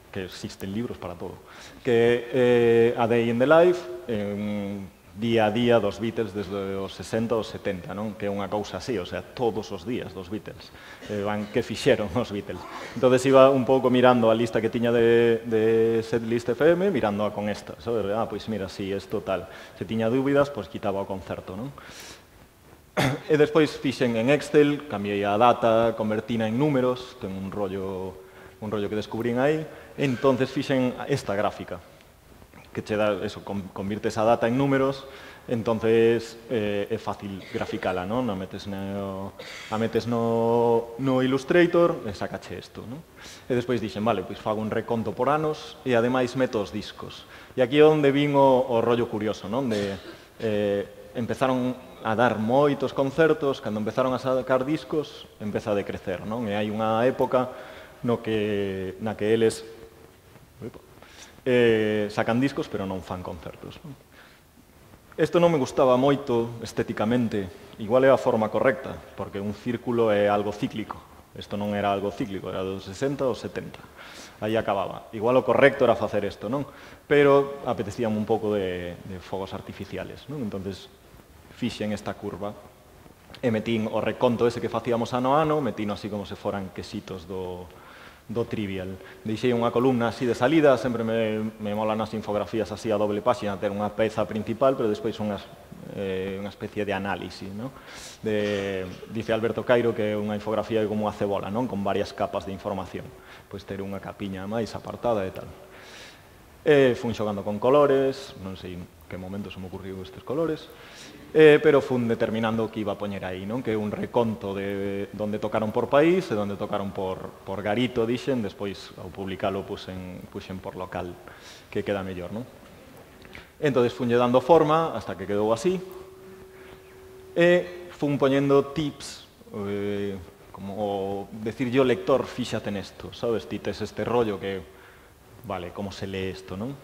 que existen libros para todo, que é eh, A Day in the Life, eh, día a día dos Beatles desde os sesenta aos setenta, non? Que é unha cousa así, o sea, todos os días dos Beatles. Eh, van, que fixeron os Beatles. Entón, iba un pouco mirando a lista que tiña de, de Setlist F M, mirando a con esta, sabes? Ah, pois mira, si, sí, isto tal. Se tiña dúbidas, pois quitaba o concerto, non? E despois fixen en Excel, cambiei a data, convertina en números, ten un rollo, un rollo que descubrín aí, e entonces fixen esta gráfica, que che dá, eso, convirte esa data en números, entonces eh, é fácil graficala, non? A metes no, a metes no, no Illustrator e sacache isto, non? E despois dixen, vale, pois fago un reconto por anos e ademais meto os discos. E aquí é onde vin o, o rollo curioso, non? De, eh, empezaron a dar moitos concertos, cando empezaron a sacar discos, empeza a decrecer, non? E hai unha época no que, na que eles eh, sacan discos, pero non fan concertos. Isto non me gustaba moito estéticamente, igual é a forma correcta, porque un círculo é algo cíclico. Isto non era algo cíclico, era dos sesenta aos setenta. Aí acababa. Igual o correcto era facer isto, non? Pero apetecíame un pouco de, de fogos artificiales, non? Entonces, fixen esta curva e metín o reconto ese que facíamos ano a ano, metino así como se foran quesitos do, do Trivial. Deixei unha columna así de salida, sempre me, me molan as infografías así a doble páxina, ter unha peza principal, pero despois unhas, eh, unha especie de análise, ¿no? De, dice Alberto Cairo que é unha infografía como unha cebola, non? Con varias capas de información. Pois ter unha capiña máis apartada e tal. E fun xogando con colores, non sei en que momento se me ocurriu estes colores, Eh, pero fun determinando o que iba a poñer aí, non? Que é un reconto de onde tocaron por país e onde tocaron por, por garito, dixen, despois ao publicalo puxen, puxen por local, que queda mellor, non? Entón, funlle dando forma hasta que quedou así, e fun poñendo tips, eh, como decir yo lector, fíxate nesto, sabes? Ti tes este rollo que, vale, como se lee isto, non?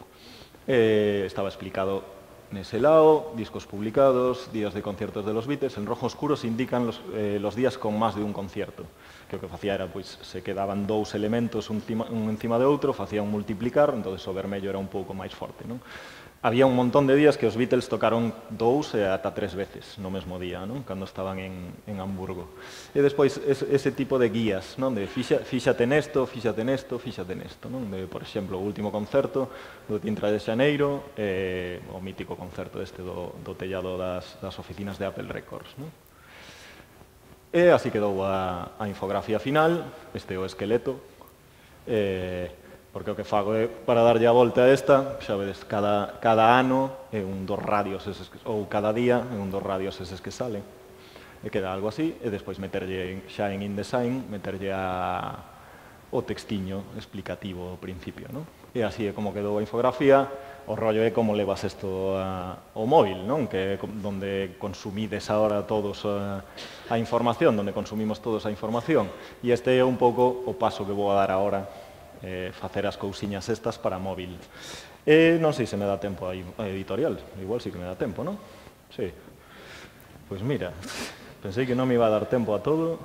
Eh, estaba explicado nese lado, discos publicados, días de conciertos de los Beatles. En rojo oscuro se indican los, eh, los días con más de un concierto. Que o que facía era, pois, se quedaban dous elementos un, cima, un encima de outro, facía un multiplicar, entón o vermello era un pouco máis forte, non? Había un montón de días que os Beatles tocaron dous e ata tres veces no mesmo día, non? Cando estaban en, en Hamburgo. E despois, ese, ese tipo de guías, non? De fixa, fíxate nesto, fíxate nesto, fíxate nesto, non? De, por exemplo, o último concerto do Tintra de Xaneiro, eh, o mítico concerto este do, do tellado das, das oficinas de Apple Records, non? E así quedou a, a infografía final, este é o esqueleto, eh, porque o que fago é, para darlle a volta a esta, xa vedes, cada, cada ano é un dos radios, eses que, ou cada día é un dos radios eses que salen, e queda algo así, e despois meterlle xa en InDesign, meterlle a, o textiño explicativo ao principio, non? E así é como quedou a infografía. O rollo é como levas isto ao móvil, non? Que é donde consumides agora todos a, a información, donde consumimos todos a información. E este é un pouco o paso que vou a dar agora, eh, facer as cousiñas estas para móvil. E non sei se me dá tempo a editorial, igual sí que me dá tempo, non? Sí. Pois mira, pensei que non me iba a dar tempo a todo,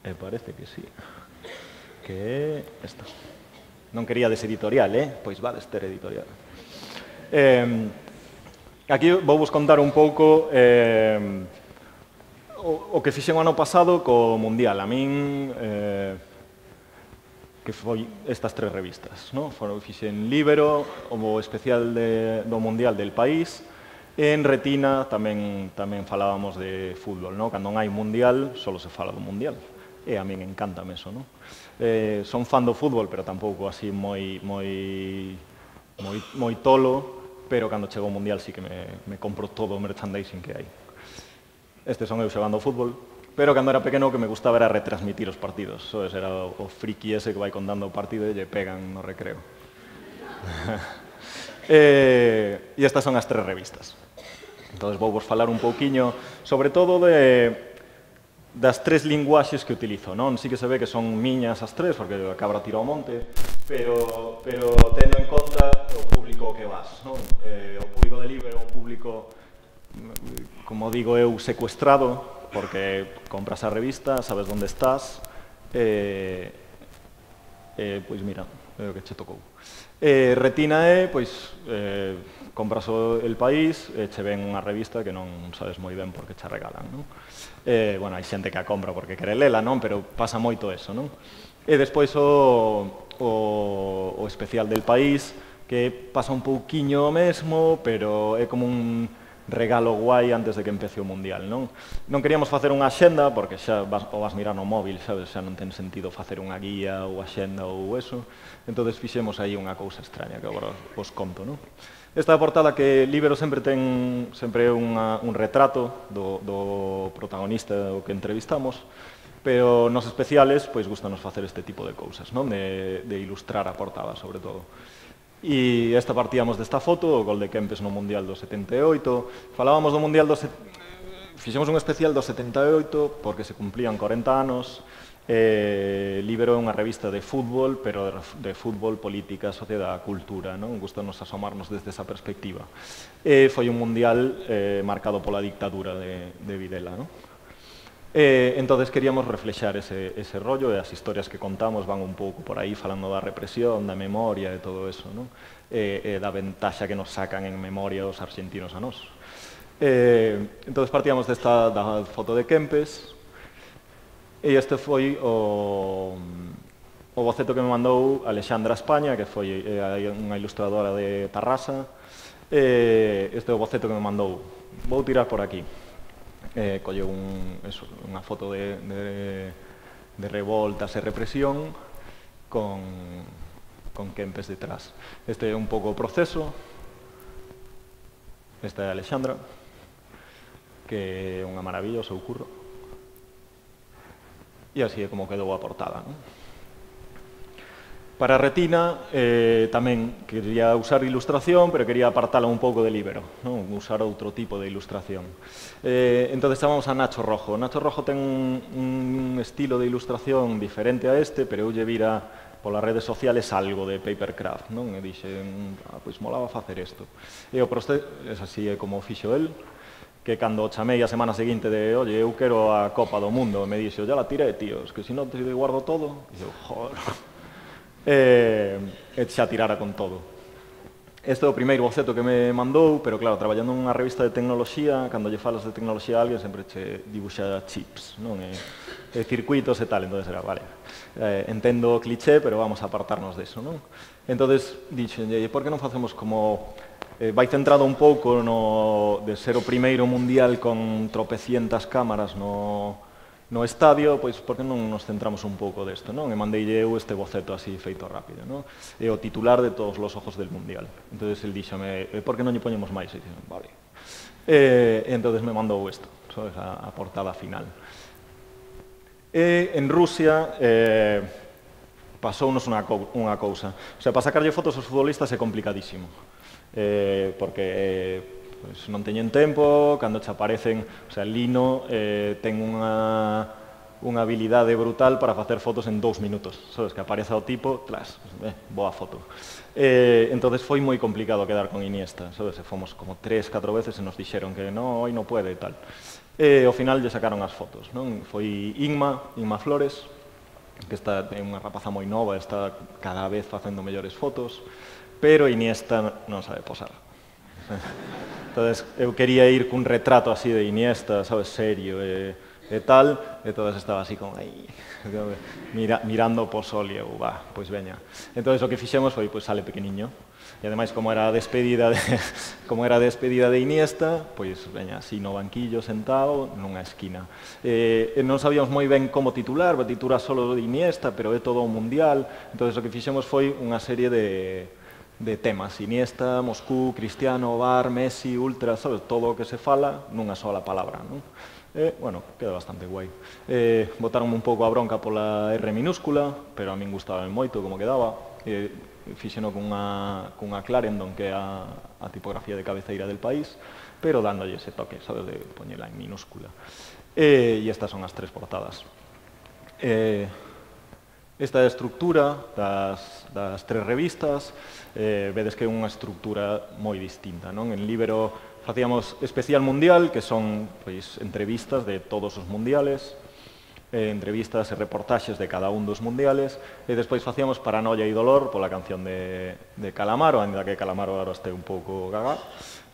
e parece que sí. Que é esta. Non quería deseditorial, eh? Pois vades ter editorial. Eh, aquí vou vos contar un pouco eh, o, o que fixen o ano pasado co Mundial. A min, eh, que foi estas tres revistas, no? Fixen Libero, o especial de, do Mundial del País, e en Retina tamén, tamén falábamos de fútbol, no? Cando non hai Mundial, só se fala do Mundial. E a min encántame eso, non? Eh, son fan do fútbol, pero tampouco así moi, moi, moi, moi tolo, pero cando chego ao Mundial sí que me, me compro todo o merchandising que hai. Este son eu xogando fútbol, pero cando era pequeno o que me gustaba era retransmitir os partidos. Soes, era o, o friki ese que vai contando o partido e lle pegan no recreo. eh, e estas son as tres revistas. Entón, vou vos falar un pouquiño, sobre todo de... das tres linguaxes que utilizo, non? Sí que se ve que son miñas as tres, porque a cabra tira ao monte, pero, pero tendo en conta o público que vas, non? Eh, o público de Libero é un público, como digo eu, secuestrado, porque compras a revista, sabes onde estás, e, eh, pois mira, é o que che tocou. E Retina é, pois, eh, compras o El País e che ven unha revista que non sabes moi ben por que che regalan, non? Eh, bueno, hai xente que a compra porque quere lela, non? Pero pasa moito eso, non? E despois o, o, o especial del País, que pasa un pouquiño o mesmo, pero é como un regalo guai antes de que empece o Mundial, non? Non queríamos facer unha axenda, porque xa vas, o vas mirar no móvil, sabes? Xa non ten sentido facer unha guía ou axenda ou eso. Entón, fixemos aí unha cousa extraña, que agora os conto, non? Esta portada que Libero sempre ten sempre unha, un retrato do, do protagonista o que entrevistamos, pero nos especiales, pois, gustanos facer este tipo de cousas, non? De, de ilustrar a portada, sobre todo. E esta partíamos desta foto, o gol de Kempes no Mundial do setenta e oito. Falábamos do Mundial do... Fixemos un especial do setenta e oito porque se cumplían corenta anos. Eh, Libero é unha revista de fútbol, pero de, de fútbol, política, sociedade, cultura, non? Gustanos asomarnos desde esa perspectiva. E foi un mundial eh, marcado pola dictadura de, de Videla, non? Eh, entonces queríamos reflexar ese, ese rollo, e as historias que contamos van un pouco por aí falando da represión, da memoria e todo eso, non? E, e da ventaxa que nos sacan en memoria os argentinos a nós. Eh, entonces partíamos desta da foto de Kempes. E este foi o, o boceto que me mandou Alexandra España, que foi eh, unha ilustradora de Tarrasa. Eh, este é o boceto que me mandou. Vou tirar por aquí. Eh, colleu un, eso, unha foto de, de, de revoltas e represión con, con Kempes detrás. Este é un pouco o proceso. Esta é Alexandra, que é unha maravilla o seu curro. E así é como quedou a portada, non? Para Retina eh, tamén quería usar ilustración, pero quería apartala un pouco de Libero, non? Usar outro tipo de ilustración. Eh, entón, chamamos a Nacho Rojo. Nacho Rojo ten un, un estilo de ilustración diferente a este, pero eu lle vira polas redes sociales algo de papercraft, non? E dixen, ah, pois molaba facer isto. E o proceso, es así é como fixo el, que cando chamei a semana seguinte de oye, eu quero a Copa do Mundo, me dixo, ya la tiré, tío, es que si non te guardo todo. E eu, joder, e, e xa tirara con todo. Este é o primeiro boceto que me mandou, pero claro, traballando nunha revista de tecnoloxía, cando lle falas de tecnoloxía a alguén, sempre che dibuxa chips, non? E, e circuitos e tal, entón era, vale, eh, entendo o cliché, pero vamos a apartarnos deso, non? Entón, dixenlle, por que non facemos como... Eh, vai centrado un pouco no de ser o primeiro mundial con tropecientas cámaras no, no estadio, pois por que non nos centramos un pouco desto, non? E mandeille eu este boceto así feito rápido, non? E o titular de todos os ojos del mundial. Entón, el díxome, eh, por que non lle poñemos máis? E dixen, vale. E, e entón me mandou isto, sabes, a, a portada final. E en Rusia... Eh, pasounos unha, unha cousa. O sea, para sacarlle fotos aos futbolistas é complicadísimo. Eh, porque eh, pues, non teñen tempo, cando che aparecen, o sea, Lino eh, ten unha, unha habilidade brutal para facer fotos en dous minutos, sabes, que apareza o tipo, tlas, eh, boa foto. Eh, entonces foi moi complicado quedar con Iniesta, sabes, e fomos como tres, catro veces e nos dixeron que no, hoy non puede e tal. E ao final lle sacaron as fotos, non? Foi Inma, Inma Flores, que está é unha rapaza moi nova, está cada vez facendo mellores fotos, pero Iniesta non sabe posar. Entonces, eu quería ir cun retrato así de Iniesta, sabes, serio e, e tal, e todas estaba así como aí, mira, mirando po sol e eu, va, pois veña. Entonces, o que fixemos foi, pois sale pequeniño, e ademais, como era a despedida de, como era a despedida de Iniesta, pois veña, así no banquillo sentado, nunha esquina. Eh, non sabíamos moi ben como titular, va titular solo de Iniesta, pero é todo o mundial. Entonces, o que fixemos foi unha serie de de temas, Iniesta, Moscú, Cristiano, Bar, Messi, Ultra, sabes, todo o que se fala nunha sola palabra, non? E, bueno, queda bastante guai. Eh, botaronme un pouco a bronca pola R minúscula, pero a min gustaba moito como quedaba. E fixeno cunha, cunha Clarendon, que é a, a tipografía de cabeceira del país, pero dándolle ese toque, sabes, de poñela en minúscula. E, e estas son as tres portadas. Eh, esta é a estructura das, das tres revistas. Eh, vedes que é unha estructura moi distinta, non? En Libero facíamos especial mundial, que son pois, entrevistas de todos os mundiales. eh, entrevistas e reportaxes de cada un dos mundiales, e despois facíamos Paranoia e Dolor pola canción de, de Calamaro, ainda que Calamaro agora este un pouco gaga,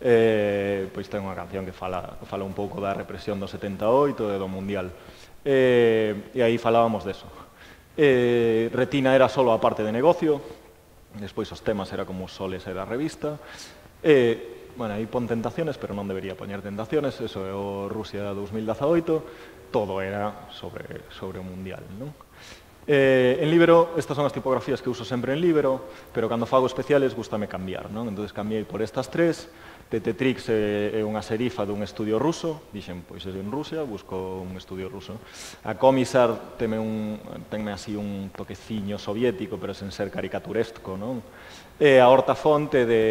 eh, pois ten unha canción que fala, fala un pouco da represión do setenta e oito e do mundial. Eh, e aí falábamos deso. Eh, Retina era solo a parte de negocio, despois os temas era como soles e da revista, e bueno, aí pon tentaciones, pero non debería poñer tentaciones, eso é o Rusia dos mil dezaoito, todo era sobre, sobre o Mundial, non? Eh, en Libero, estas son as tipografías que uso sempre en Libero, pero cando fago especiales gustame cambiar, non? Entón, cambiei por estas tres. Tetetrix é, é unha serifa dun estudio ruso, dixen, pois é en Rusia, busco un estudio ruso. A Comisar tenme, un, tenme así un toqueciño soviético, pero sen ser caricaturesco, non? E a Hortafonte de...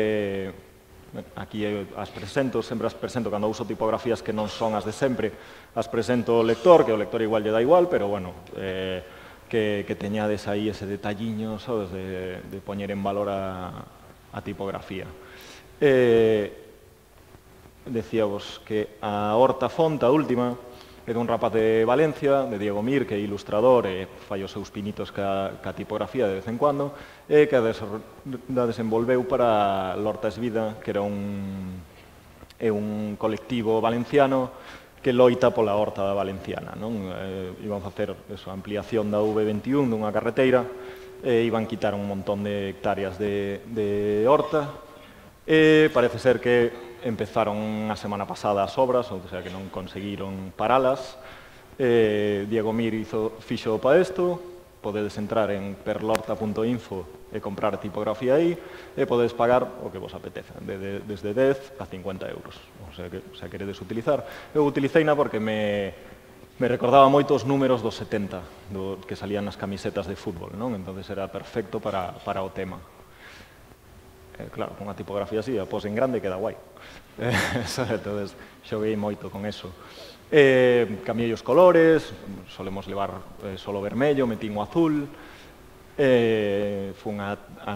Aquí as presento, sempre as presento cando uso tipografías que non son as de sempre, as presento ao lector, que o lector igual lle dá igual, pero bueno, eh, que, que teñades aí ese detalliño, sabes, de, de poñer en valor a, a tipografía. Eh, decíavos que a Horta Fonta, a última, é dun rapaz de Valencia, de Diego Mir, que é ilustrador e fai os seus pinitos ca, ca tipografía de vez en cuando, e que a desenvolveu para Lortas Vida, que era un, é un colectivo valenciano que loita pola horta valenciana, non? Eh, iban facer eso, a ampliación da V veintiún dunha carreteira, e iban quitar un montón de hectáreas de, de horta, e parece ser que empezaron a semana pasada as obras, ou sea que non conseguiron paralas. Eh, Diego Mir hizo, fixo para isto, podedes entrar en perlorta punto info e comprar tipografía aí, e podedes pagar o que vos apeteza, de, de, desde dez a cincuenta euros. O sea que, o sea, queredes utilizar. Eu utilicei na porque me, me recordaba moito os números dos setenta, do, que salían nas camisetas de fútbol, non? Entonces era perfecto para, para o tema. Eh, claro, con unha tipografía así, a pos en grande queda guai. Eh, entonces, xoguei moito con eso. Eh, cambiei os colores, solemos levar eh, solo vermello, metín o azul, eh, fun a, a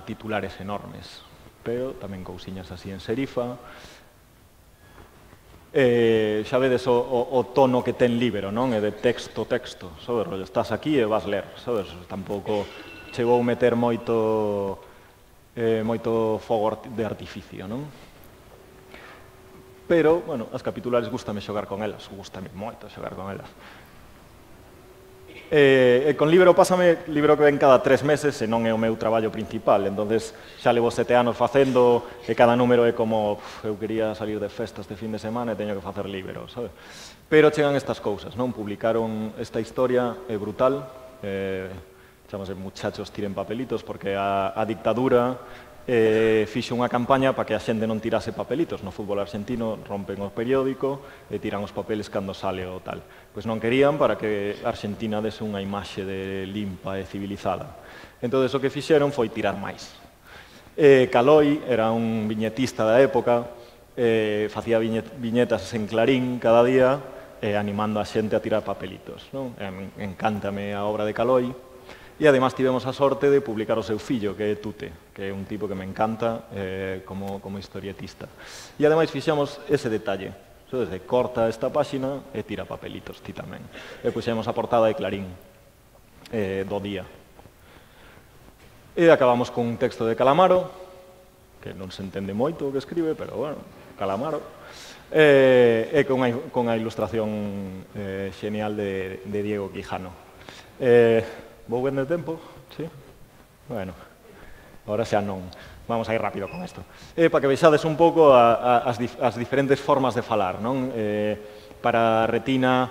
titulares enormes, pero tamén cousiñas así en serifa. Eh, xa vedes o, o, o tono que ten Libero, non? É de texto, texto, sabes, rollo, estás aquí e vas ler, sabes, tampouco chegou a meter moito... Eh, moito fogo de artificio, non? Pero, bueno, as capitulares gustame xogar con elas, gustame moito xogar con elas. Eh, e con Libero pásame, Libero que ven cada tres meses e non é o meu traballo principal, entonces xa levo sete anos facendo e cada número é como, uf, eu quería salir de festa este fin de semana e teño que facer Libero, sabe? Pero chegan estas cousas, non? Publicaron esta historia, é brutal, eh, chamase Muchachos tiren papelitos, porque a, a dictadura eh, fixe unha campaña para que a xente non tirase papelitos. No fútbol argentino rompen o periódico e tiran os papeles cando sale o tal. Pois non querían para que Argentina dese unha imaxe de limpa e civilizada. Entón, o que fixeron foi tirar máis. Eh, Caloi era un viñetista da época, eh, facía viñetas en Clarín cada día, eh, animando a xente a tirar papelitos, non? Eh, encántame a obra de Caloi. E, además, tivemos a sorte de publicar o seu fillo, que é Tute, que é un tipo que me encanta eh, como, como historietista. E, ademais, fixamos ese detalle. So, desde corta esta páxina e tira papelitos, ti tamén. E puxemos a portada de Clarín eh, do día. E acabamos con un texto de Calamaro, que non se entende moito o que escribe, pero, bueno, Calamaro. Eh, e con a, con a ilustración eh, xenial de, de Diego Quijano. Eh, Vou ben de tempo? Sí? Bueno, ahora xa non. Vamos a ir rápido con isto. Eh, para que vexades un pouco a, a, as, dif as diferentes formas de falar, non? Eh, para Retina,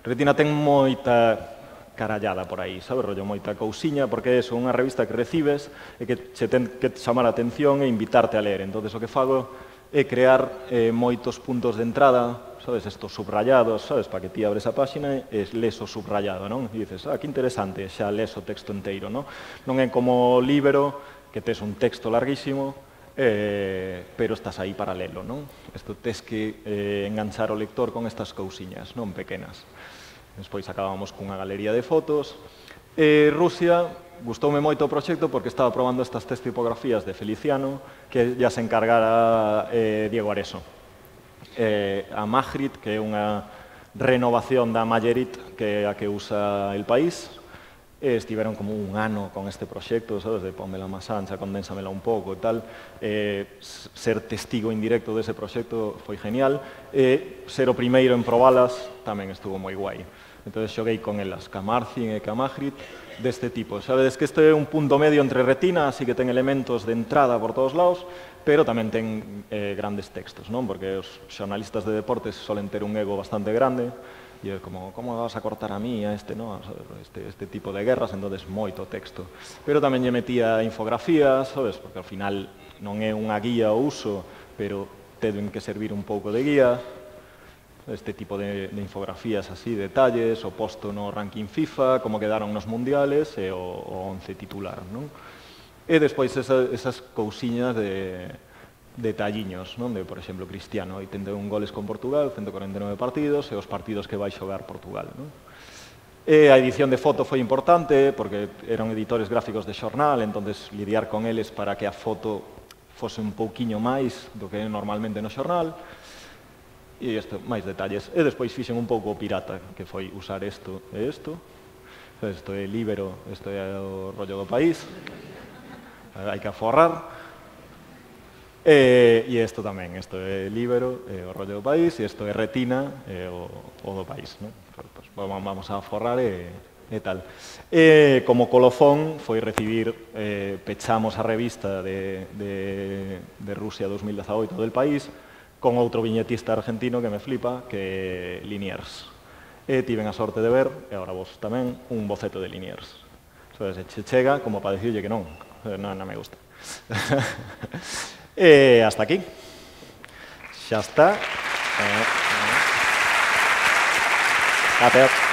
Retina ten moita carallada por aí, sabe, rollo, moita cousiña, porque é unha revista que recibes e que che ten que chamar a atención e invitarte a ler. Entón, o que fago é crear eh, moitos puntos de entrada, sabes, estos subrayados, sabes, para que ti abres a páxina e les o subrayado, non? E dices, ah, que interesante, xa les o texto inteiro, non? Non é como o Libero, que tes un texto larguísimo, eh, pero estás aí paralelo, non? Isto tes que eh, enganchar o lector con estas cousiñas, non pequenas. Despois acabamos cunha galería de fotos. Eh, Rusia, gustoume moito o proxecto porque estaba probando estas tres tipografías de Feliciano, que ya se encargara eh, Diego Areso. Eh, a Magritte, que é unha renovación da Mallerit, que é a que usa El País. E estiveron como un ano con este proxecto, sabes, de pónmela máis ancha, condénsamela un pouco e tal. Eh, ser testigo indirecto dese proxecto foi genial. E ser o primeiro en probalas tamén estuvo moi guai. Entón, xoguei con elas, ca Marcin e ca Magritte, deste tipo. Sabedes que este é un punto medio entre retina, así que ten elementos de entrada por todos lados, pero tamén ten eh, grandes textos, non? Porque os xornalistas de deportes solen ter un ego bastante grande, e é como, como vas a cortar a mí, a este, no? este, este tipo de guerras, entonces moito texto. Pero tamén lle metía infografías, sabes? Porque ao final non é unha guía ao uso, pero ten que servir un pouco de guía, este tipo de, de infografías así, detalles, o posto no ranking FIFA, como quedaron nos mundiales, e o, o once titular, non? E despois esa, esas cousiñas de detalliños, non? De, por exemplo, Cristiano, oitenta e un goles con Portugal, ciento cuarenta e nove partidos, e os partidos que vai xogar Portugal, non? E a edición de foto foi importante, porque eran editores gráficos de xornal, entonces lidiar con eles para que a foto fose un pouquiño máis do que é normalmente no xornal, e isto, máis detalles. E despois fixen un pouco pirata, que foi usar isto e isto. Isto é Libero, isto é o rollo do país. Hai que aforrar. E, e isto tamén, isto é Libero, é o rollo do país, e isto é Retina, é o, o do país, non? Pues, vamos a forrar e, e tal. E como colofón foi recibir, eh, pechamos a revista de, de, de Rusia dos mil dezaoito del país, con outro viñetista argentino que me flipa, que é Liniers. E tiven a sorte de ver, e agora vos tamén, un boceto de Liniers. So, se che chega como para dicirlle que non, non, non me gusta. E hasta aquí. Xa está. Gracias.